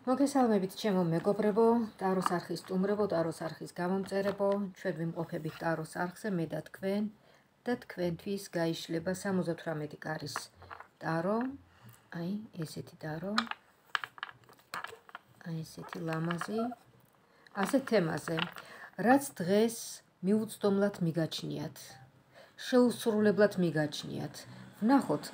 მოგესალმებით ჩემო მეგობრებო, ტაროს არხის სტუმრებო, ტაროს არხის გამომწერებო, ჩვენ ვიმყოფებით ტაროს არხზე, მე და თქვენთვის გაიშლება 78 კარის ტარო, აი ესეთი ტარო, აი ესეთი ლამაზი, ასეთ თემაზე, რაც დღეს მიუწვდომლად მიგაჩნიათ, შეუსრულებლად მიგაჩნიათ. ვნახოთ,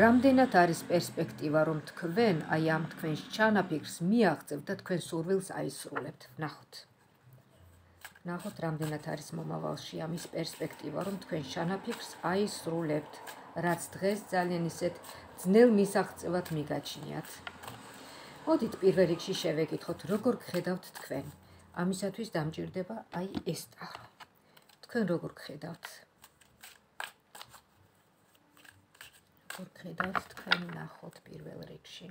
რამდენად არის პერსპექტივა, რომ თქვენ აი ამ თქვენს ჩანაფიქრს მიაღწევთ და თქვენ სურვილს აისრულებთ. ვნახოთ, რამდენად არის მომავალში ამის პერსპექტივა, რომ თქვენ ჩანაფიქრს აისრულებთ, რაც დღეს ძალიან ისეთ ძნელ მისაღწევად მიგაჩნიათ. მოდით პირველ რიგში შევეკითხოთ, როგორ გხედავთ თქვენ. ამისათვის დამჭირდება აი ეს ტარო. თქვენ როგორ გხედავთ? გხედავთ თქვენ ნახოთ პირველ რიგში.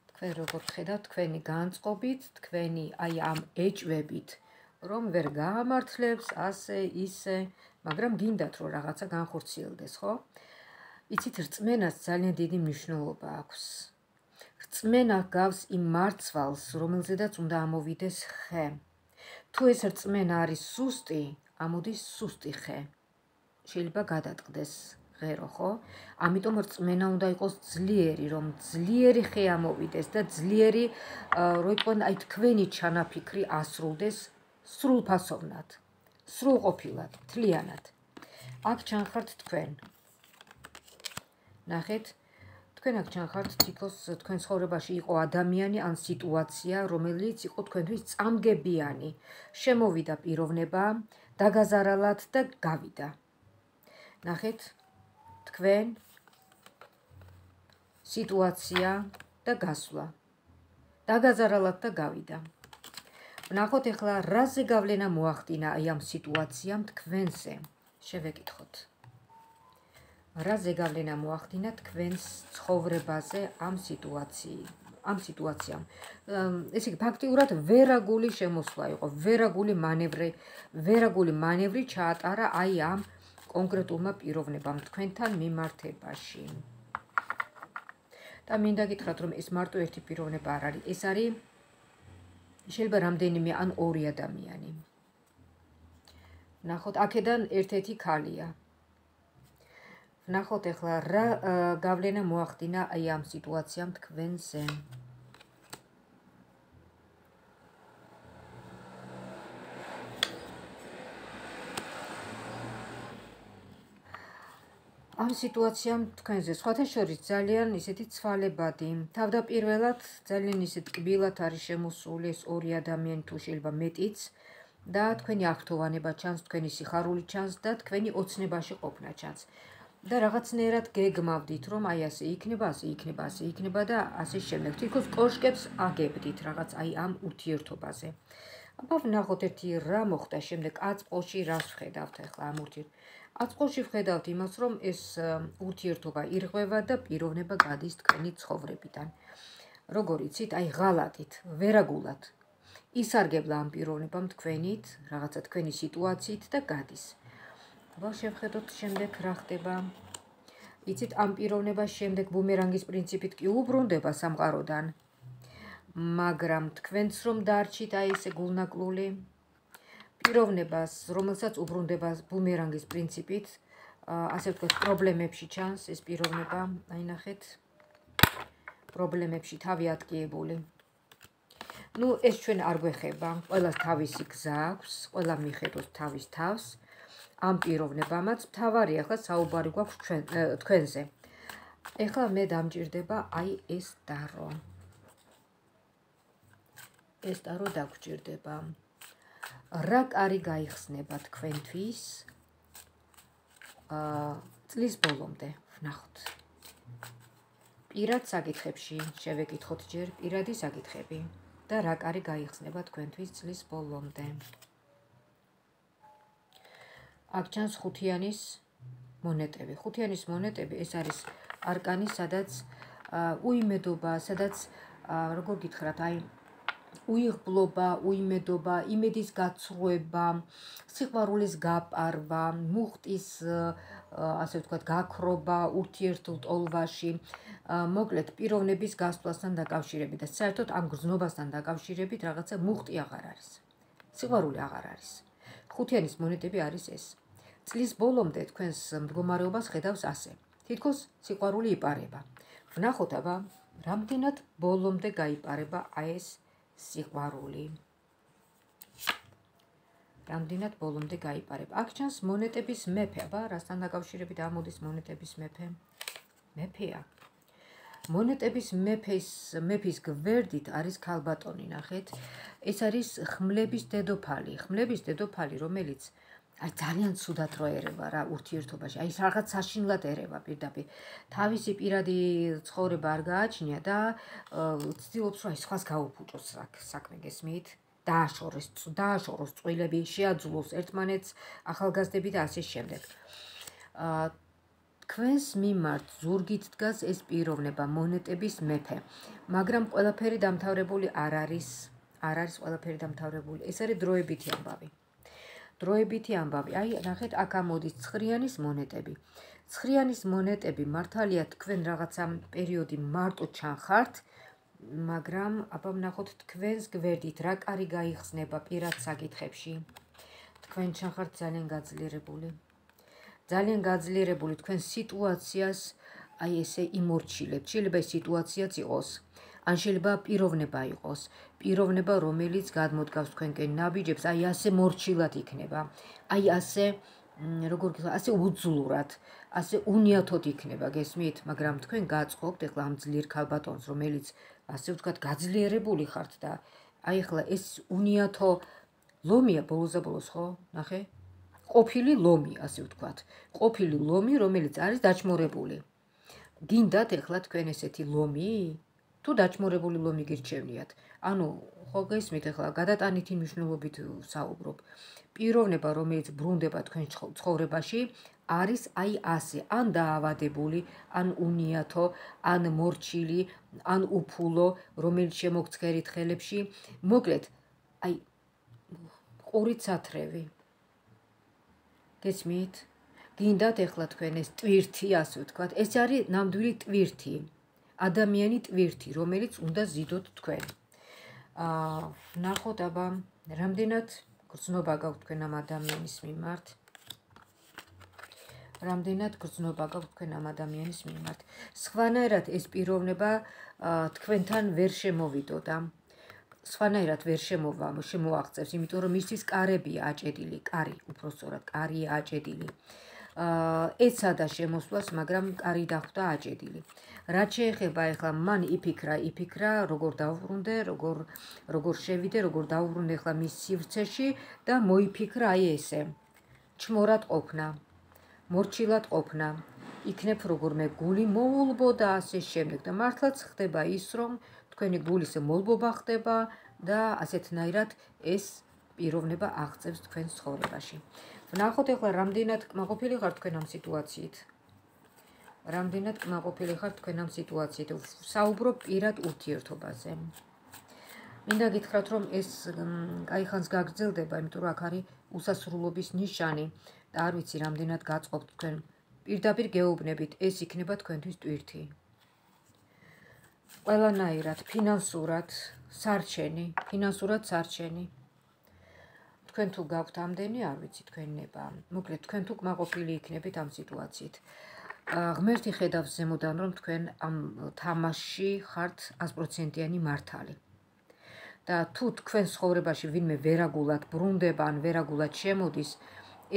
თქვენ როგორ გხედავთ თქვენი განწყობით, თქვენი აი ამ ეჭვებით, რომ ვერ გაამართლებს ასე ისე, მაგრამ გინდათ რომ რაღაცა განხორციელდეს, ხო? იცით, რწმენას ძალიან დიდი მნიშვნელობა აქვს. რწმენა გავს იმ მარცვალს, რომელზედაც უნდა ამოვიდეს ხე. თუ ეს რწმენა არის სუსტი, ამოდის სუსტი ხე. შეიძლება გადატყდეს ღერო, ხო? ამიტომ რწმენა უნდა იყოს ძლიერი, რომ ძლიერი ხე ამოვიდეს და ძლიერი, რო იყვნენ აი თქვენი ჩანაფიქრი ასრულდეს სრულფასოვნად, სრულყოფილად, მთლიანად. აქ ჩანხართ თქვენ. ნახეთ, თქვენ აქ ჩანხართ თითქოს თქვენ ცხოვრებაში იყო ადამიანი ან სიტუაცია, რომელიც იყო თქვენთვის წამგებიანი, შემოვიდა პიროვნება, დაგაზარალათ და გავიდა. ნახეთ, თქვენ სიტუაცია და გასვლა. დაგაზარალათ და გავიდა. ვნახოთ ახლა რაზე გავლენა მოახდინა აი ამ სიტუაციამ თქვენზე. შევეკითხოთ. რაზე გავლენა მოახდინა თქვენს ცხოვრებაზე ამ სიტუაციამ. ესე იგი, ფაქტიურად ვერაგული შემოსვლა იყო, ვერაგული მანევრი ჩაატარა აი ამ კონკრეტულმა პიროვნებამ თქვენთან მიმართებაში. და მინდა გითხრათ, რომ ეს მარტო ერთი პიროვნება არ არის, ეს არის შეიძლება რამდენიმე ან ორი ადამიანი. ვნახოთ, აქედან ერთ-ერთი ქალია. ვნახოთ ახლა რა გავლენა მოახდინა აი ამ სიტუაციამ თქვენზე. ამ სიტუაციამ თქვენზე სხვათა შორის ძალიან ისეთი ცვალებადი, თავდაპირველად ძალიან ისეთ კბილად არის შემოსული ეს ორი ადამიანი, თუ შეიძლება მეტიც, და თქვენი აღფრთოვანება ჩანს, თქვენი სიხარული ჩანს და თქვენი ოცნებაში ყოფნა ჩანს. და რაღაცნაირად გეგმავდით, რომ აი ასე იქნება, ასე იქნება, ასე იქნება და ასე შემდეგ. თითქოს კოშკებს აგებდით რაღაც აი ამ ურთიერთობაზე. აბა ვნახოთ ერთი რა მოხდა შემდეგ აწყოში, რას ვხედავთ ახლა ამ აწყოში ვხედავთ იმას, რომ ეს ურთიერთობა ირღვევა და პიროვნება გადის თქვენი ცხოვრებიდან. როგორ იცით, აი ღალატით, ვერაგულად ისარგებლა ამ პიროვნებამ თქვენით, რაღაცა თქვენი სიტუაციით და გადის. აბა შევხედოთ შემდეგ რა ხდება. იცით, ამ პიროვნებას შემდეგ ბუმერანგის პრინციპით კი უბრუნდება სამყაროდან, მაგრამ თქვენც რომ დარჩით აი ესე გულნაკლული, პიროვნებას, რომელსაც უბრუნდება ბუმერანგის პრინციპით, ასე ვთქვათ, პრობლემებში ჩანს ეს პიროვნება, აი ნახეთ, პრობლემებში თავი ატკიებული. ნუ ეს ჩვენ არ გვეხება, ყველას თავისი გზა აქვს, ყველა მიხედოს თავის თავს, ამ პიროვნებამაც მთავარი ახლა საუბარი გვაქვს თქვენზე. ეხლა მე დამჭირდება აი ეს ტარო. ეს ტარო დაგჭირდება. რა კარი გაიხსნება თქვენთვის წლის ბოლომდე, ვნახოთ. პირად საკითხებში შევეკითხოთ ჯერ პირადი საკითხები და რა კარი გაიხსნება თქვენთვის წლის ბოლომდე. აქ ჩანს ხუთიანის მონეტები. ხუთიანის მონეტები ეს არის არკანი, სადაც უიმედობა, სადაც როგორ გითხრათ, აი უიღბლობა, უიმედობა, იმედის გაცრუება, სიყვარულის გაპარვა, მუხტის ასე ვთქვათ, გაქრობა ურთიერთულ ტოლვაში, მოკლედ პიროვნების გასვლასთან დაკავშირებით და საერთოდ ამ გრძნობასთან დაკავშირებით რაღაცა მუხტი აღარ არის. სიყვარული აღარ არის. ხუთიანის მონეტები არის ეს. წლის ბოლომდე თქვენს მდგომარეობას ხედავს ასე. თითქოს სიყვარული იპარება. ვნახოთ აბა, რამდენად ბოლომდე გაიპარება ეს სიყვარული. რამდენად ბოლომდე გაიპარება. აქ ჩანს მონეტების მეფე, აბა, რასთან დაკავშირებით ამოდის მონეტების მეფე? მეფეა. მონეტების მეფის გვერდით არის ქალბატონი, ნახეთ. ეს არის ხმლების დედოფალი. ხმლების დედოფალი, რომელიც აი ძალიან ცუდად რო ერევა რა ურთიერთობაში. აი რაღაც საშინლად ერევა პირდაპირ. თავისი პირადი ცხოვრება არ გააჩნია და ცდილობს რომ აი სხვას გაუფუჭოს საქმე, გესმით? დააშოროს წვილები, შეაძულოს ერთმანეთს ახალგაზრდები და ასე შემდეგ. თქვენს მიმართ ზურგით დგას ეს პიროვნება, მონეტების მეფე, მაგრამ ყველაფერი დამთავრებული არ არის ყველაფერი დამთავრებული. ეს არის დროებითი ამბავი. დროებითი ამბავი. აი, ნახეთ, აქ ამოდის ცხრიანის მონეტები. ცხრიანის მონეტები მართალია თქვენ რაღაცა პერიოდი მარტო ჩანხართ, მაგრამ აბა ვნახოთ თქვენს გვერდით რა კარი გაიხსნება პირად საკითხებში. თქვენ ჩანხართ ძალიან გაძლიერებული. ძალიან გაძლიერებული თქვენ სიტუაციას აი ესე იმორჩილებთ. შეიძლება ეს სიტუაციაც იყოს. ან შეიძლება პიროვნება იყოს. პიროვნება, რომელიც გადმოდგავს თქვენკენ ნაბიჯებს, აი ასე მორჩილად იქნება. აი ასე, როგორ გითხრათ, ასე უძლურად, ასე უნიათოდ იქნება, გესმით? მაგრამ თქვენ გაწყობთ ეხლა ამ ძლიერ ქალბატონს, რომელიც ასე ვთქვათ, გაძლიერებული ხართ და აი ეხლა ეს უნიათო ლომია ბოლოს, ხო? ნახე? ყოფილი ლომი, ასე ვთქვათ. ყოფილი ლომი, რომელიც არის დაჩმორებული. გინდათ ეხლა თქვენ ესეთი ლომი? თუ დაჩმორებული ლომი გირჩევნიათ. ანუ, ხო გესმით ეხლა გადატანითი მნიშვნელობით საუბრობ. პიროვნება, რომელიც ბრუნდება თქვენ ცხოვრებაში, არის აი ასე, ან დაავადებული, ან უნიათო, ან მორჩილი, ან უფულო, რომელიც შემოგცქერით ხელებში. მოკლედ, აი ყურით სათრევი. გესმით? გინდათ ეხლა თქვენ ეს ტვირთი, ასე ვთქვათ, ეს არის ნამდვილი ტვირთი. ადამიანი ტვირთი, რომელიც უნდა ზიდოთ თქვენ. ვნახოთ აბა, რამდენად გრძნობა გაქვთ თქვენ ამ ადამიანის მიმართ. რამდენად გრძნობა გაქვთ თქვენ ამ ადამიანის მიმართ. სხვანაირად ეს პიროვნება თქვენთან ვერ შემოვიდოდა. სხვანაირად ვერ შემოაღწევს, იმიტომ რომ მისთვის კარებია აჭედილი, კარი, უпростоრად, კარია აჭედილი. ეცადა შემოსვლას, მაგრამ კარი დახვდა აჭედილი. რაც შეეხება ეხლა მან იფიქრა, როგორ დავუბრუნდე, როგორ შევიდე, როგორ დავუბრუნდე ეხლა მის სივრცეში და მოიფიქრა აი ესე. ჩმორად ყოფნა, მორჩილად ყოფნა, იქნებ როგორმე გული მოულბო და ასე შემდეგ და მართლაც ხდება ის, რომ თქვენი გულის მოლბობა ხდება და ასეთნაირად ეს პიროვნება აღწევს თქვენს ცხოვრებაში. ვნახოთ ეხლა რამდენად კმაყოფილი ხართ თქვენ ამ სიტუაციით. რამდენად კმაყოფილი ხართ თქვენ ამ სიტუაციით. საუბრობ პირად ურთიერთობაზე. მინდა გითხრათ, რომ ეს კაიხანს გაგრძელდება, იმიტომ რომ აქ არის უსასრულობის ნიშანი და არ ვიცი რამდენად გაწყობთ თქვენ. პირდაპირ გეუბნებით, ეს იქნება თქვენთვის ტვირთი. ყველანაირად, ფინანსურად სარჩენი. თქვენ თუ გაქვთ ამდენი, არ ვიცი თქვენ ნება. მოკლედ, თქვენ თუ კმაყოფილი იქნებით ამ სიტუაციით. ღმერთი ხედავს ზემოდან, რომ თქვენ ამ თამაშში ხართ 100%-იანი მართალი. და თუ თქვენ ცხოვრებაში ვინმე ვერაგულად ბრუნდება, ან ვერაგულად შემოდის,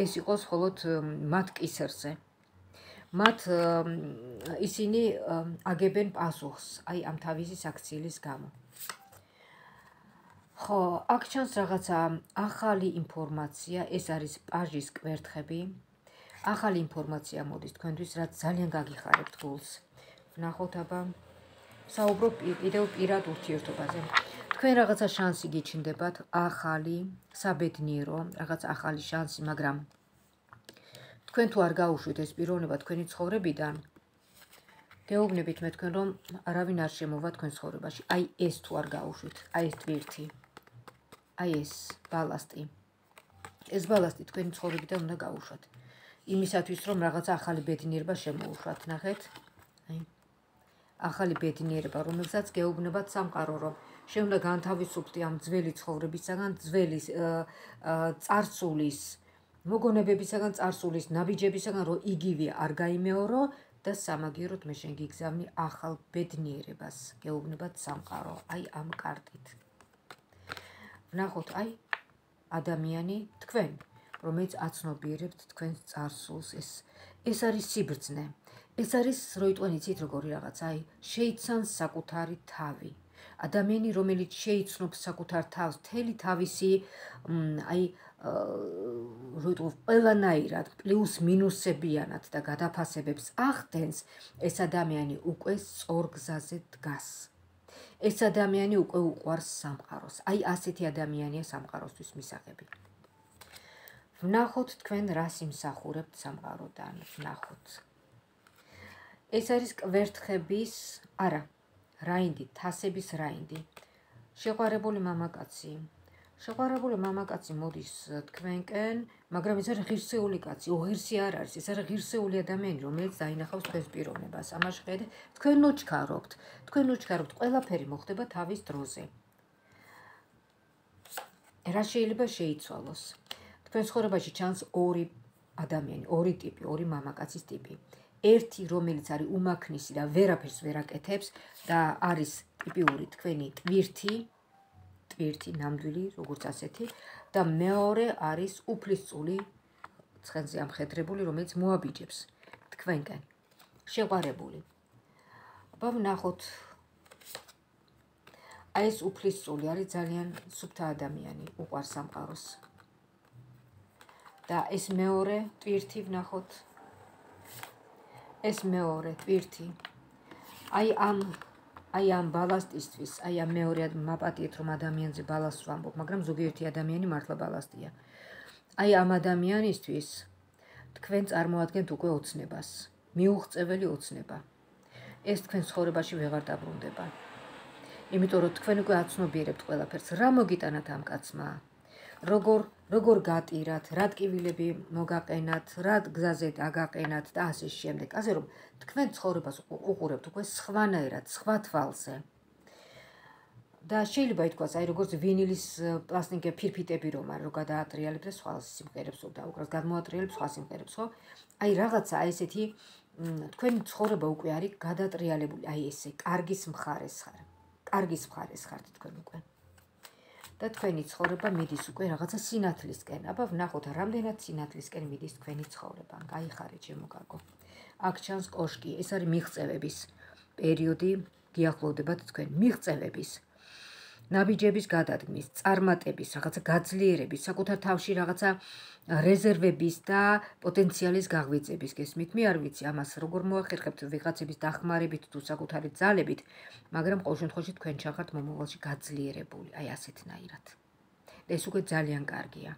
ეს იყოს მხოლოდ მათ კისერზე. მათ ისინი აგებენ პასუხს, აი ამ თავისი საქციელის გამო. ხო, აქ ჩანს რაღაცა ახალი ინფორმაცია, ეს არის პაჟის კვერთხები. ახალი ინფორმაცია მოდის თქვენთვის, რაც ძალიან გაგიხარებთ გულს. ვნახოთ აბა, საუბრობ კიდევ პირად ურთიერთობაზე. თქვენ რაღაცა შანსი გიჩნდებათ, ახალი, საბედნიერო, რაღაც ახალი შანსი, მაგრამ თქვენ თუ არ გაუშვით ეს პიროვნება თქვენი ცხოვრებიდან, გეუბნებით მე თქვენ, რომ არავინ არ შემოვა თქვენ ცხოვრებაში. აი ეს თუ არ გაუშვით, აი ეს ტვირთი. აი ეს ბალასტი. ეს ბალასტი თქვენი ცხოვრებიდან უნდა გაუშვათ. იმისათვის რომ რაღაცა ახალი ბედნიერება შემოუშვათ, ნახეთ? აი ახალი ბედნიერება, რომელსაც გეუბნებათ სამყარო, რომ შეუნდა განთავისუფლდე ამ ძველი ცხოვრებისაგან, ძველი წარსულის, მოგონებებისაგან, წარსულის ნაბიჯებისაგან, რომ იგივე არ გაიმეორო და სამაგიეროდ მე შენ გიგზავნი ახალ ბედნიერებას, გეუბნებათ სამყარო, აი ამ კარტით. ვნახოთ, აი ადამიანი თქვენ, რომელიც აცნობიერებთ თქვენს წარსულს, ეს არის სიბრძნე. ეს არის როიტყვენ იცით როგორი რაღაცა, აი შეიცანს საკუთარი თავი. ადამიანი, რომელიც შეიცნობს საკუთარ თავს, მთელი თავისი აი როიტყვენ ყველანაირად პლუს მინუსებიანად და გადაფასებებს ახდენს, ეს ადამიანი უკვე სწორ გზაზე დგას. ეს ადამიანი უკვე უყვარს სამყაროს. აი ასეთი ადამიანია სამყაროსთვის მისაღები. ვნახოთ თქვენ რას იმსახურებთ სამყაროდან, ვნახოთ. ეს არის კვერთხების, არა, რაინდი, თასების რაინდი. შეყვარებული მამაკაცი. შეყვარებული მამაკაცი მოდის თქვენკენ, მაგრამ ეს არის ღირსეული კაცი, უღირსი არ არის, ეს არის ღირსეული ადამიანი, რომელიც დაინახავს თქვენს პიროვნებას. ამაში ხედე, თქვენ ნოჩქარობთ, ყველაფერი მოხდება თავის დროზე. რა შეიძლება შეიცვალოს? თქვენ ცხოვრებაში ჩანს ორი ადამიანი, ორი ტიპი, ორი მამაკაცის ტიპი. ერთი, რომელიც არის უმაქნისი და ვერაფერს ვერ აკეთებს და არის ტიპიური თქვენი ტვირთი, ნამდვილი, როგორც ასეთი და მეორე არის უფლისწული, ცხენზე ამხედრებული, რომელიც მოაბიჯებს თქვენკენ. შეყვარებული. აბა ვნახოთ. აი ეს უფლისწული არის ძალიან სუფთა ადამიანი, უყვარს სამყაროს. და ეს მეორე ტვირთი ვნახოთ. ეს მეორე ტვირთი. აი ამ ბალასტისთვის, აი ამ მეორე მაპატიეთ რომ ადამიანზე ბალასტს ვამბობ, მაგრამ ზოგიერთი ადამიანი მართლა ბალასტია. აი ამ ადამიანისთვის თქვენ წარმოადგენთ უკვე ოცნებას, მიუღწეველი ოცნება. ეს თქვენ ცხოვრებაში ვეღარ დაბრუნდება. იმიტომ რომ თქვენ უკვე აცნობიერებთ ყველაფერს, რა მოგიტანათ ამ კაცმა? როგორ გატირათ, რა ტკივილები მოგაყენათ, რა გზაზე დაგაყენათ და ასე შემდეგ. ასე რომ თქვენ ცხოვრებას უყურებთ უკვე სხვანაირად, სხვა თვალზე. და შეიძლება ითქვას, აი როგორც ვინილის პლასტინკე ფირფიტები რომ არის, რომ გადაატრიალებს და სხვა სიმღერებს დაუკრავს, გადმოატრიალებს სხვა სიმღერებს, ხო? აი რაღაცა აი ესეთი თქვენი ცხოვრება უკვე არის გადატრიალებული, აი ესე, კარგის მხარეს ხართ თქვენ უკვე. და თქვენი ცხოვრება მიდის უკვე რაღაცა სინათლისკენ. აბა ვნახოთ, რამდენად სინათლისკენ მიდის თქვენი ცხოვრება. გაიხარეთ ჩემო კარგო. აქ ჩანს კოშკი, ეს არის მიღწევების პერიოდი, გიახლოვდებათ თქვენ მიღწევების, ნაბიჯების გადადგმის, წარმატების, რაღაცა გაძლიერების, საკუთარ თავში რაღაცა რეზერვების და პოტენციალის გაღვიძების. გესმით? მე არ ვიცი ამას როგორ მოახერხებთ ვიღაცების დახმარებით თუ საკუთარი ძალებით, მაგრამ ყოველ შემთხვევაში თქვენ ჩახართ მომავალში გაძლიერებული, აი ასეთნაირად. და ეს უკვე ძალიან კარგია.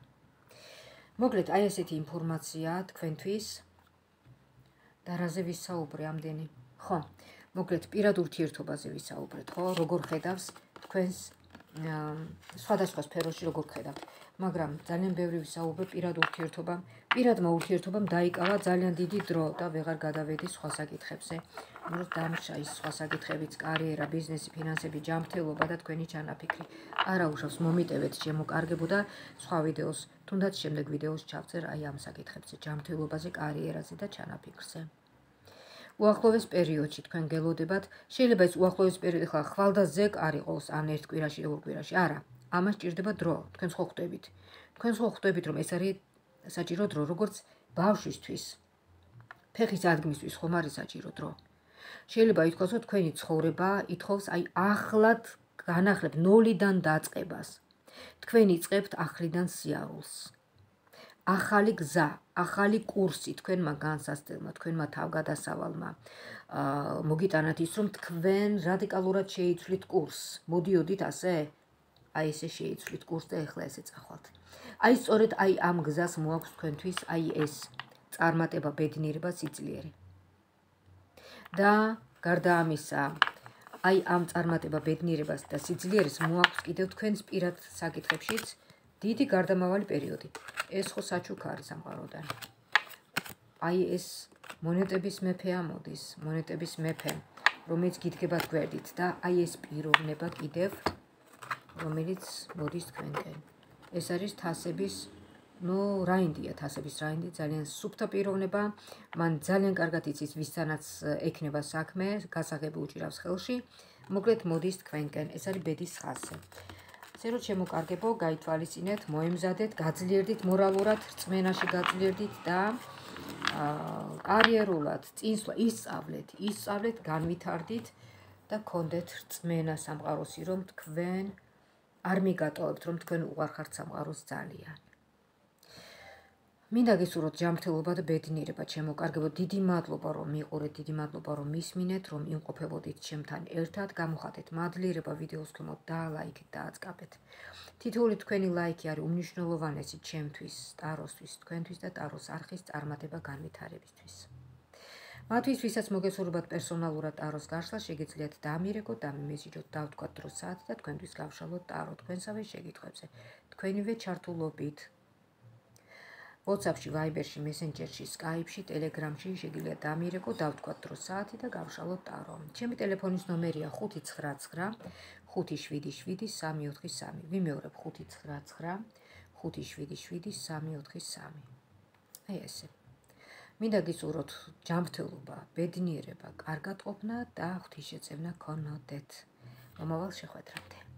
მოკლედ, აი ესეთი ინფორმაცია თქვენთვის. და რაზე ვისაუბრე ამდენი? ხო, მოკლედ პირად ურთიერთობაზე ვისაუბრეთ, ხო? როგორ ხედავს თქვენს სხვადასხვა სფეროში როგორ ხედავთ, მაგრამ ძალიან ბევრი ვისაუბრე პირად ურთიერთობამ. პირადმა ურთიერთობამ დაიკავა ძალიან დიდი დრო და ვეღარ გადავედი სხვა საკითხებზე. რომ დამრჩა ის სხვა საკითხებიც, კარიერა, ბიზნესი, ფინანსები, ჯანმრთელობა და თქვენი ჩანაფიქრი. არა უშავს, მომიტევეთ შემოკარგებო და სხვა ვიდეოს, თუნდაც შემდეგ ვიდეოს ჩავწერ აი ამ საკითხებზე, ჯანმრთელობაზე, კარიერაზე და ჩანაფიქრზე. უახლოეს პერიოდში თქვენ გელოდებათ, შეიძლება ეს უახლოეს პერიოდი ხვალდაზეკ არ იყოს, ან ერთ კვირაში და ორ კვირაში, არა, ამას ჭირდება დრო, თქვენ ხო ხვდებით, რომ ეს არის საჭირო დრო, როგორც ბავშვისთვის, ფეხის ადგმისთვის ხომ არის საჭირო დრო. შეიძლება ითქვას, რომ თქვენი ცხოვრება ითხოვს აი ახლად განახლებ ნოლიდან დაწყებას. თქვენ იწყებთ ახლიდან სიარულს. ახალი გზა, ახალი კურსი თქვენმა განსასწრებმა, თქვენმა თავგადასავალმა მოგიტანათ ის, რომ თქვენ რადიკალურად შეიცვლით კურსს. მოდიოდით ასე? აი ესე შეიცვლით კურსს და ეხლა ესე წახვალთ. აი სწორედ აი ამ გზას მოაქვს თქვენთვის აი ეს წარმატება, ბედნიერება, სიძლიერე. და გარდა ამისა, აი ამ წარმატება, ბედნიერებას და სიძლიერეს მოაქვს კიდევ თქვენს პირად საკითხებშიც დიდი გარდამავალი პერიოდი. ეს ხო საჩუქა არის სამყაროდან. აი ეს მონეტების მეფე ამოდის, მონეტების მეფე, რომელიც გიდგებათ გვერდით და აი ეს პიროვნება კიდევ, რომელიც მოდის თქვენკენ. ეს არის თასების, რაინდია თასების რაინდი, ძალიან სუფთა პიროვნება, მან ძალიან კარგად იცის ვისთანაც ექნება საქმე, გასაღები უჭირავს ხელში, მოკლედ მოდის თქვენკენ, ეს არის ბედის ხაზზე. ასე რომ შემოკარგებო, გაითვალისწინეთ, მოემზადეთ, გაძლიერდით მორალურად, რწმენაში გაძლიერდით და კარიერულად ისწავლეთ, განვითარდით და გქონდეთ რწმენა სამყაროსი, რომ თქვენ არ მიგატოვებთ, რომ თქვენ უყარხართ სამყაროს ძალიან. მინდა გისურვოთ ჯანმრთელობა და ბედნიერება, ჩემო კარგებო, დიდი მადლობა რომ მიყურეთ, დიდი მადლობა რომ მისმინეთ, რომ იმყოფებოდით ჩემთან ერთად, გამოხატეთ მადლიერება ვიდეოს ქვემოთ და ლაიქით და აწყაბეთ. თითოეული თქვენი ლაიქი არის უმნიშვნელოვანესი ჩემთვის, ტაროსთვის, თქვენთვის და ტაროს არხის წარმატება განვითარებისთვის. მათთვის, ვისაც მოგესურვებათ პერსონალურად ტაროს გაშლა, შეგიძლიათ დამირეკოთ, დამიმესიჯოთ, დავთქვათ დრო საათი და თქვენთვის გავშალოთ ტარო თქვენსავე შეკითხვებზე. თქვენივე ჩართულობით WhatsApp-ში, Viber-ში, Messenger-ში, Skype-ში, Telegram-ში შეგიძლიათ დამირეკოთ, დავთქვათ დრო საათი და გავშალოთ ტარო. ჩემი ტელეფონის ნომერია 599 577 343. ვიმეორებ 599 577 343. აი ესე. მინდა გისურვოთ ჯანმრთელობა, ბედნიერება, კარგად ყოფნა და ღვთისშეწევნა გქონოდეთ. მომავალ შეხვედრამდე.